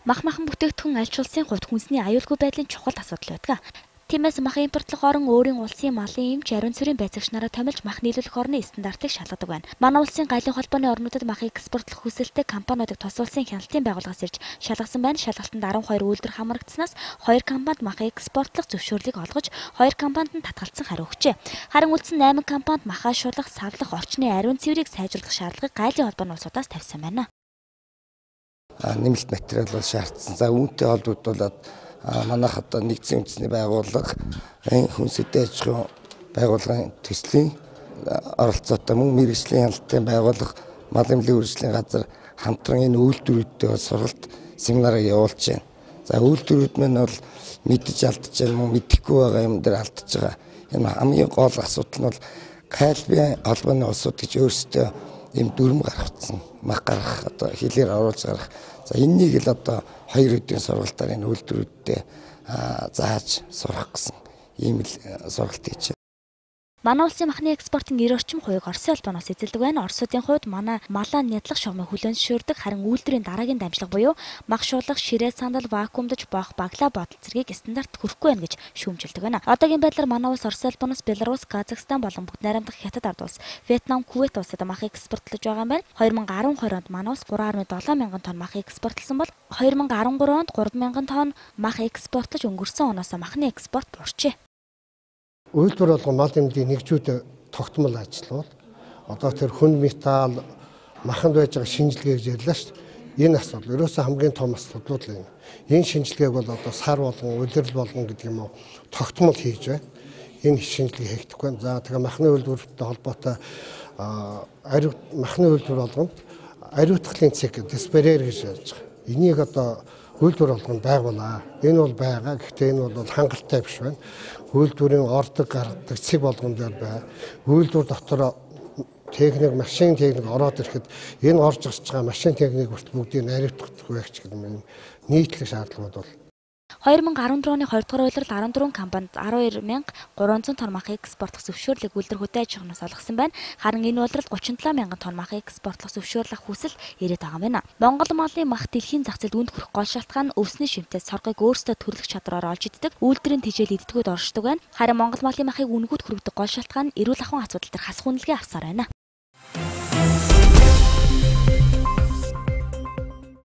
Махан бүтээгдэхүүн аль ч улсын хувьд хүнсний аюулгүй байдлын чухал асуудал байдаг. Тиймээс мах импортлох орон өөрийн улсын малын эмч ариун цэврийн байцаагч нараа томилж мах нийлүүлэх орны стандартыг шалгадаг байна. Манай улсын галын холбооны орнуудад мах экспортлох хүсэлтэй компаниудыг тус улсын хяналтын байгууллагаас ирж шалгасан байна. Шалгалтанд 12 үйлдвэр хамрагдсанаас 2 компанид мах экспортлох зөвшөөрлийг олгож, 2 компанид нь татгалзсан хариу өгчээ. Харин үлдсэн 8 компанид махаа шулах, савлах, орчны ариун цэврийг сайжруулах шаардлагыг галын холбооны улсуудаас тавьсан байна. Нэмэлт материал бол шаардсан. За үүнтэй холбогдуулаад манайх одоо нэгдсэн үндэсний байгууллага хүнсэтэй аж ахуйн байгууллагын төслийн оролцоотой мөн мэргэжлийн хяналтын байгууллага мал эмнэлгийн үржлийн газар хамтран энэ үйлдвэрүүдтэй сургалт семинарыг явуулж байна. За үйлдвэрүүд маань бол мэдж алдаж байна мөн мэдэхгүй байгаа юм дээр алдаж байгаа. Энэ хамгийн гол асуудал нь бол Калбын холбооны улсууд гэж өөрсдөө ийм дүрм гаргацсан. Мах гаргах одоо хэлээр оруулж гаргах. За энэнийг л одоо 2 өдрийн сургалтаар энэ үйлдвэрүүдтэй зааж сурах гэсэн ийм л сургалт хийж байна. Манай улсын махны экспортын 90% Оросын холбооноос эзэлдэг байна. Оросуудын хувьд манай малаа нядлах шугамыг хүлээн зөвшөөрдөг, харин үйлдвэрийн дараагийн дамжлага буюу мах шуулах, ширээ сандал, вакуумдж боох, баглаа бодол зэргийг стандарт хүрэхгүй байна гэж шүүмжилдэг байна. Одоогийн байдлаар манай улс Оросын холбооноос Беларусь, Казахстан болон бүгд найрамдах Хятад ард улс, Вьетнам, Кувейт улсад мах экспортлож байгаа юм байна. 2012 онд манай улс 3.7 мянган тонн мах экспортлсон бол 2013 онд 3 мянган тонн мах экспортлож өнгөрсөн оноос махны экспорт буурчээ. Үйлдвэр болгон мал эмнэлгийн нэгжүүд тогтмол ажиллавал одоо тэр хүн металл маханд байж байгаа шинжилгээ гэж ярьлаа шүү дээ. Энэ асуудал ерөөсөө хамгийн том асуудлууд л юм. Энэ шинжилгээг бол одоо сар болгон, улирал болгон гэдэг юм уу тогтмол хийж байна. Энэ шинжилгээ хийгдэхгүй байна. За тэгээ махны үйлдвэртэй холбоотой махны үйлдвэр болгонд ариутгахлын цэг диспарер гэж ярьж байгаа. Энийг одоо үйлдвэр болгонд байгуулаа. Энэ бол байгаа. Гэхдээ энэ бол хангалттай биш байна. Үйлдвэрийн ордог гаргадаг цэг болгон дээр бай. Үйлдвэр дотор техник, машин техник ороод ирэхэд энэ орж гарч байгаа машин техник хүртэл бүгдийг наривдах байх ч гэдэг юм нийтлэг шаардлагууд бол 2014 оны 2 дугаар улирал 14 компанид 12,300 тонн мах экспортлох зөвшөөрлийг үйлдвэр хөдөө аж ахуйнаас олгосон байна. Харин энэ улирал 37 мянган тонн мах экспортлох зөвшөөрлөх хүсэл ирээд байгаа юм байна. Монгол малын мах дэлхийн зах зээлд үнд хүрэх гол шалтгаан нь өвсний шимтээс соргыг өөрсдөө төрөлх чадвараар олж иддэг, үйлдвэрийн тэжээл иддгүүд оршдог байна. Харин Монгол малын махыг үнгүүд хүргэдэг гол шалтгаан нь эрүүл ахуйн асуудал төр хасах үнэлгээ авсаар байна.